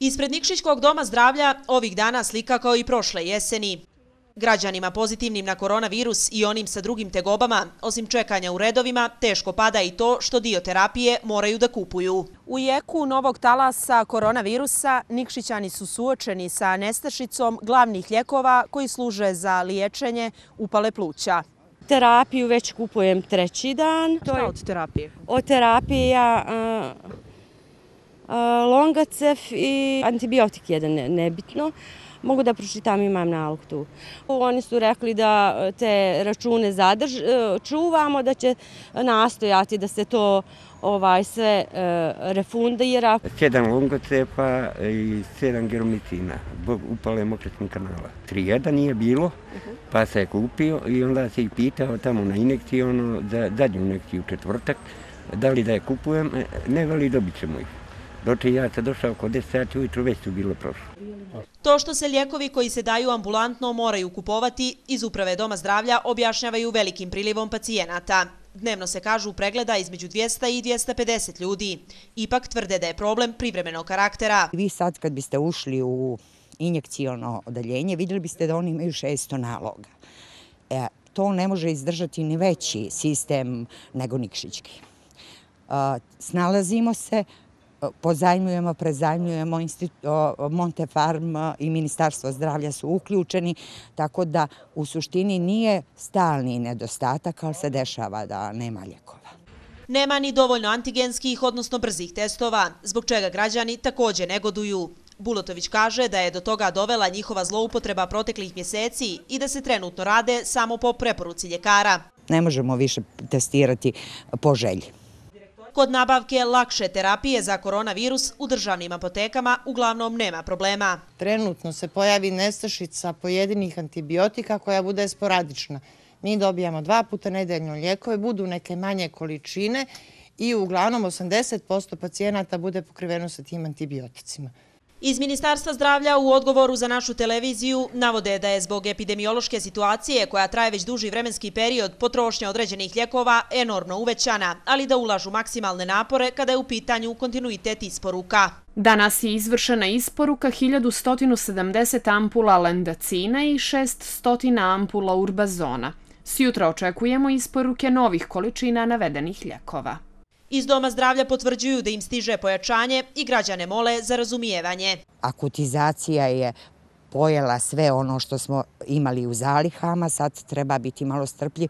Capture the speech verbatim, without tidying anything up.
Ispred Nikšićkog doma zdravlja ovih dana slika kao i prošle jeseni. Građanima pozitivnim na koronavirus i onim sa drugim tegobama, osim čekanja u redovima, teško pada i to što dio terapije moraju da kupuju. U jeku novog talasa koronavirusa Nikšićani su suočeni sa nestašicom glavnih lijekova koji služe za liječenje upale pluća. Terapiju već kupujem treći dan. Šta od terapije? Od terapije ja Longacef i antibiotik jedan nebitno. Mogu da pročitam, imam nalog tu. Oni su rekli da te račune čuvamo, da će nastojati da se to sve refundira. Sedam Longacefa i sedam geromicina, zbog upale mokraćnih kanala. Tri jedan nije bilo, pa se je kupio i onda se ih pitao tamo na injekciju, za zadnju injekciju u četvrtak, da li da je kupujem, ne veli dobit ćemo ih. Doče ja sam došao oko deset sati ujutru, već su bilo prošlo. To što se lijekovi koji se daju ambulantno moraju kupovati, iz uprave Doma zdravlja objašnjavaju velikim prilivom pacijenata. Dnevno se kažu pregleda između dvjesto i dvjesto pedeset ljudi. Ipak tvrde da je problem privremenog karaktera. Vi sad kad biste ušli u injekcijono odeljenje, vidjeli biste da oni imaju šesto naloga. E, to ne može izdržati ni veći sistem nego Nikšićki. E, snalazimo se, pozajmljujemo, prezajmljujemo, Montefarm i Ministarstvo zdravlja su uključeni, tako da u suštini nije stalni nedostatak, ali se dešava da nema lijekova. Nema ni dovoljno antigenskih, odnosno brzih testova, zbog čega građani također negoduju. Bulotović kaže da je do toga dovela njihova zloupotreba proteklih mjeseci i da se trenutno rade samo po preporuci ljekara. Ne možemo više testirati po želji. Kod nabavke lakše terapije za koronavirus u državnim apotekama uglavnom nema problema. Trenutno se pojavi nestašica pojedinih antibiotika koja bude sporadična. Mi dobijamo dva puta nedeljno lijekove, budu neke manje količine i uglavnom osamdeset posto pacijenata bude pokriveno sa tim antibioticima. Iz Ministarstva zdravlja u odgovoru za našu televiziju navode da je zbog epidemiološke situacije koja traje već duži vremenski period potrošnja određenih lijekova enormno uvećana, ali da ulažu maksimalne napore kada je u pitanju kontinuitet isporuka. Danas je izvršena isporuka hiljadu sto sedamdeset ampula Lendacina i šesto ampula Urbazona. Sjutra očekujemo isporuke novih količina navedenih lijekova. Iz Doma zdravlja potvrđuju da im stiže pojačanje i građane mole za razumijevanje. Akutizacija je pojela sve ono što smo imali u zalihama, sad treba biti malo strpljiv